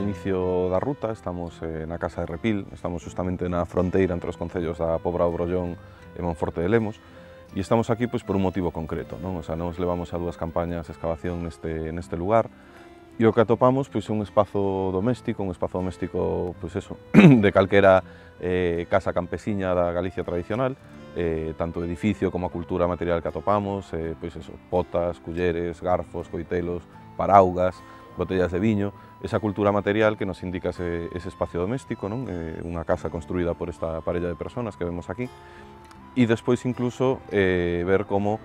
inicio da ruta, estamos na Casa de Repil, estamos justamente na fronteira entre os concellos da Pobra do Brollón e Monforte de Lemos, e estamos aquí pois, por un motivo concreto, non? O sea, nos levamos a 2 campañas de excavación neste lugar, e o que atopamos pois, é un espazo doméstico pois, eso, de calquera casa campesiña da Galicia tradicional, tanto o edificio como a cultura material que atopamos, pois eso, potas, culleres, garfos, coitelos, paraugas, botellas de viño, esa cultura material que nos indica ese espacio doméstico, non? Unha casa construída por esta parella de personas que vemos aquí, e despois incluso ver como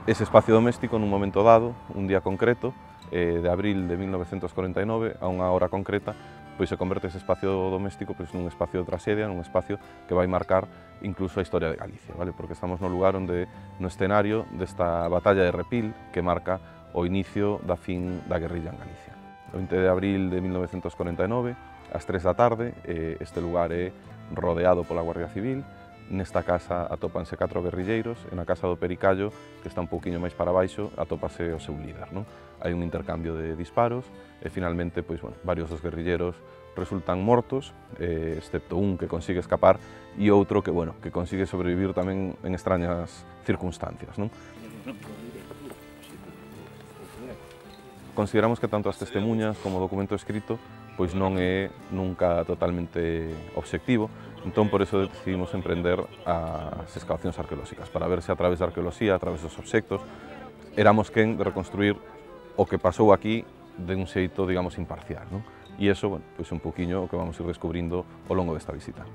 ese espacio doméstico nun momento dado, un día concreto, de abril de 1949, a unha hora concreta, pois se converte ese espacio doméstico pois, nun espacio de traxedia, nun espacio que vai marcar incluso a historia de Galicia, vale? Porque estamos no lugar onde, no escenario desta batalla de Repil, que marca o inicio da fin da guerrilla en Galicia. O 20 de abril de 1949, ás 3 da tarde, este lugar é rodeado pola Guardia Civil. Nesta casa atópanse 4 guerrilleiros, e na casa do Pericallo, que está un pouquiño máis para baixo, atópase o seu líder, non? Hai un intercambio de disparos, e finalmente, pois, bueno, varios dos guerrilleros resultan mortos, excepto un que consigue escapar, e outro que, bueno, que consigue sobrevivir tamén en extrañas circunstancias, non? Consideramos que tanto as testemunhas como o documento escrito pois non é nunca totalmente obxectivo, entón por eso decidimos emprender as excavacións arqueolóxicas, para ver se a través da arqueoloxía, a través dos obxectos, éramos quen de reconstruir o que pasou aquí de un xeito, digamos, imparcial, non? E iso, bueno, pois un poquinho o que vamos ir descubrindo ao longo desta visita.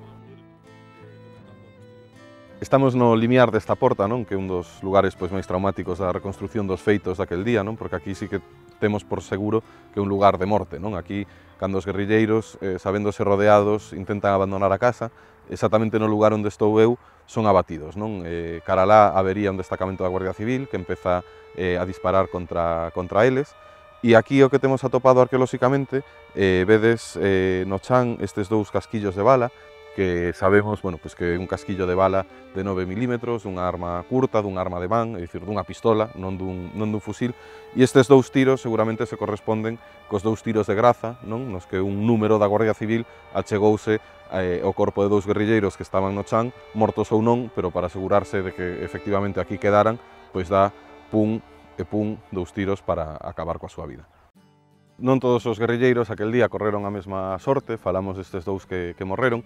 Estamos no limiar desta porta, non? Que é un dos lugares pois, máis traumáticos da reconstrucción dos feitos daquel día, non? Porque aquí sí que temos por seguro que é un lugar de morte, non? Aquí, cando os guerrilleiros, sabéndose rodeados, intentan abandonar a casa, exactamente no lugar onde estou eu, son abatidos, non? Cara lá habería un destacamento da Guardia Civil que empeza a disparar contra eles, e aquí o que temos atopado arqueolóxicamente, vedes no chan estes 2 casquillos de bala, que sabemos, bueno, pues que é un casquillo de bala de 9 milímetros, dunha arma curta, dunha arma de man, é dicir, dunha pistola, non dun fusil, e estes 2 tiros seguramente se corresponden cos 2 tiros de graza, non? Nos que un número da Guardia Civil achegouse ao corpo de 2 guerrilleiros que estaban no chan, mortos ou non, pero para asegurarse de que efectivamente aquí quedaran, pois dá pum e pum 2 tiros para acabar coa súa vida. Non todos os guerrilleiros aquel día correron a mesma sorte, falamos destes 2 que morreron,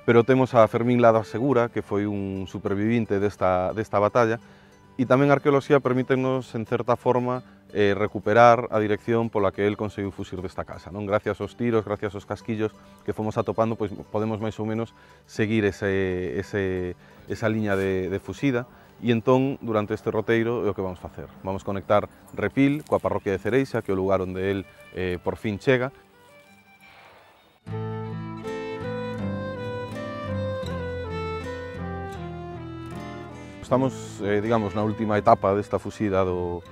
pero temos a Fermín Lada Segura, que foi un supervivinte desta batalla, e tamén a arqueoloxía permítenos, en certa forma, recuperar a dirección pola que el conseguiu fuxir desta casa, non? Gracias aos tiros, gracias aos casquillos que fomos atopando, pois podemos máis ou menos seguir esa liña de fuxida, e entón, durante este roteiro, é o que vamos facer. Vamos conectar Repil coa parroquia de Cereixa, que é o lugar onde el por fin chega. Estamos, digamos, na última etapa desta fuxida do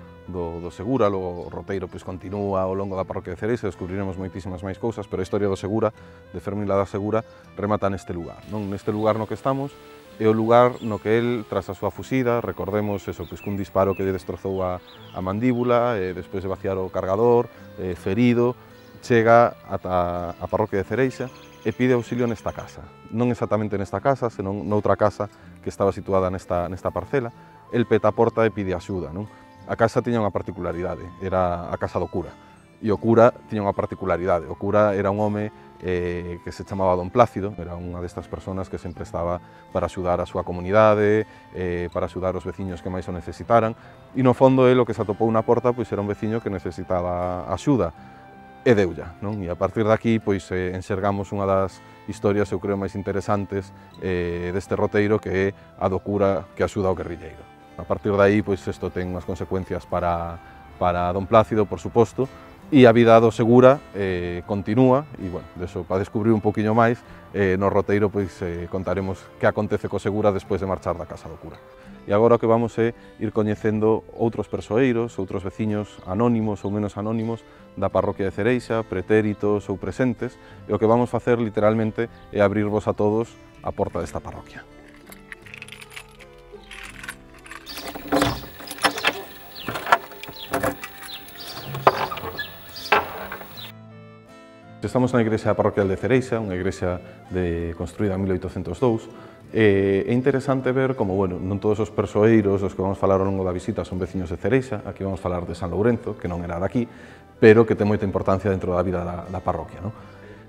Segura, logo o roteiro pois, continúa ao longo da parroquia de Cereixa, descubriremos moitísimas máis cousas, pero a historia do Segura, de Fermín Lada Segura, remata neste lugar, non? Neste lugar no que estamos, é o lugar no que el, tras a súa fuxida, recordemos eso, pois, cun disparo que lle destrozou a mandíbula, despois de vaciar o cargador, ferido, chega ata a parroquia de Cereixa e pide auxilio nesta casa. Non exactamente nesta casa, senón noutra casa que estaba situada nesta parcela. El peta a porta e pide axuda, non? A casa tiña unha particularidade, era a casa do cura. E o cura tiña unha particularidade. O cura era un home que se chamaba Don Plácido, era unha destas persoas que sempre estaba para axudar a súa comunidade, para axudar os veciños que máis o necesitaran, e no fondo el o que se atopou na porta pois era un veciño que necesitaba axuda, e deulla, non? E a partir de aquí pois enxergamos unha das historias, eu creo, máis interesantes deste roteiro, que é a do cura que axuda ao guerrilleiro. A partir de aí, pois isto ten unhas consecuencias para Don Plácido, por suposto, e a vida do Segura continúa, e, bueno, deso, para descubrir un poquinho máis, no roteiro pois contaremos que acontece co Segura despois de marchar da casa do cura. E agora o que vamos é ir coñecendo outros persoeiros, outros veciños anónimos ou menos anónimos da parroquia de Cereixa, pretéritos ou presentes, e o que vamos facer literalmente é abrirvos a todos a porta desta parroquia. Estamos na igrexa parroquial de Cereixa, unha igrexa construída en 1802. É interesante ver como, bueno, non todos os persoeiros dos que vamos falar ao longo da visita son veciños de Cereixa. Aquí vamos falar de San Lourenzo, que non era daqui, pero que ten moita importancia dentro da vida da parroquia, non?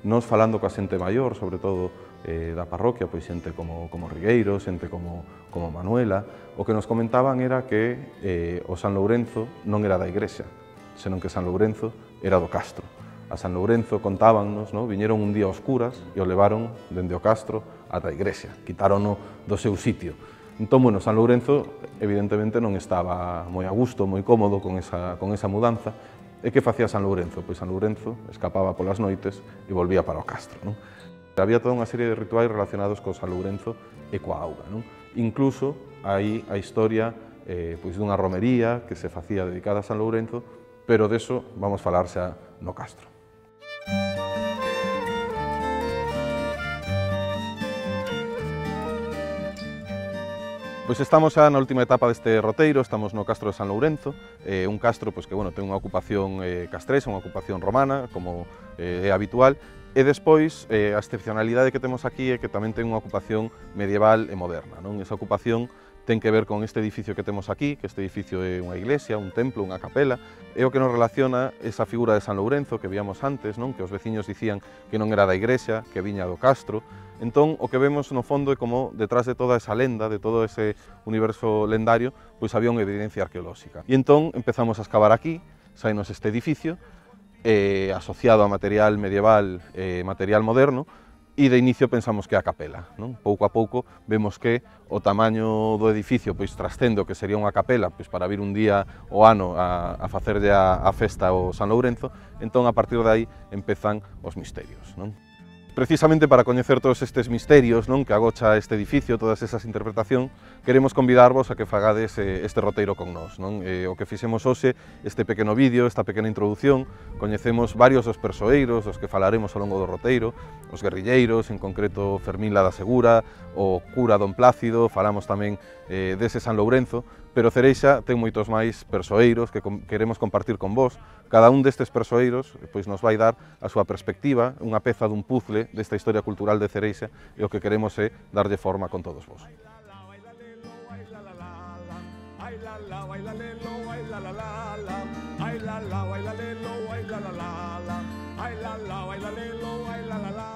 Nos falando coa xente maior, sobre todo da parroquia, pois xente como Rigueiro, xente como Manuela, o que nos comentaban era que o San Lourenzo non era da igrexa, senón que San Lourenzo era do castro. A San Lourenzo contábannos, no? Viñeron un día a oscuras e o levaron dende o castro ata a igrexa, quitárono do seu sitio. Entón, bueno, San Lourenzo evidentemente non estaba moi a gusto, moi cómodo con esa mudanza. E que facía San Lourenzo? Pois San Lourenzo escapaba polas noites e volvía para o castro, non? Había toda unha serie de rituais relacionados co San Lourenzo e coa auga, non? Incluso hai a historia pois dunha romería que se facía dedicada a San Lourenzo, pero deso vamos falar xa no castro. Pois estamos xa na última etapa deste roteiro, estamos no castro de San Lourenzo, un castro pois, que bueno, ten unha ocupación castrexa, unha ocupación romana, como é habitual, e despois a excepcionalidade que temos aquí é que tamén ten unha ocupación medieval e moderna, non? Esa ocupación ten que ver con este edificio que temos aquí, que este edificio é unha iglesia, un templo, unha capela, é o que nos relaciona esa figura de San Lourenzo que víamos antes, non? Que os veciños dicían que non era da igrexa, que viña do castro. Entón, o que vemos no fondo é como detrás de toda esa lenda, de todo ese universo lendario, pois había unha evidencia arqueolóxica. E entón empezamos a escavar aquí, sainos este edificio, asociado a material medieval e material moderno, e de inicio pensamos que é a capela, non? Pouco a pouco vemos que o tamaño do edificio pois trascende o que sería unha capela pois para vir un día o ano a facerlle a festa ao San Lourenzo, entón a partir de aí empezan os misterios, non? Precisamente para coñecer todos estes misterios, non, que agocha este edificio, todas esas interpretacións, queremos convidarvos a que fagades este roteiro con nós, non? O que fixemos hoxe, este pequeno vídeo, esta pequena introdución, coñecemos varios dos persoeiros, dos que falaremos ao longo do roteiro, os guerrilleiros, en concreto Fermín Lada Segura, o cura Don Plácido, falamos tamén dese San Lourenzo, pero Cereixa ten moitos máis persoeiros que queremos compartir con vos. Cada un destes persoeiros pois nos vai dar a súa perspectiva, unha peza dun puzzle desta historia cultural de Cereixa, e o que queremos é darlle forma con todos vos. Ay la la,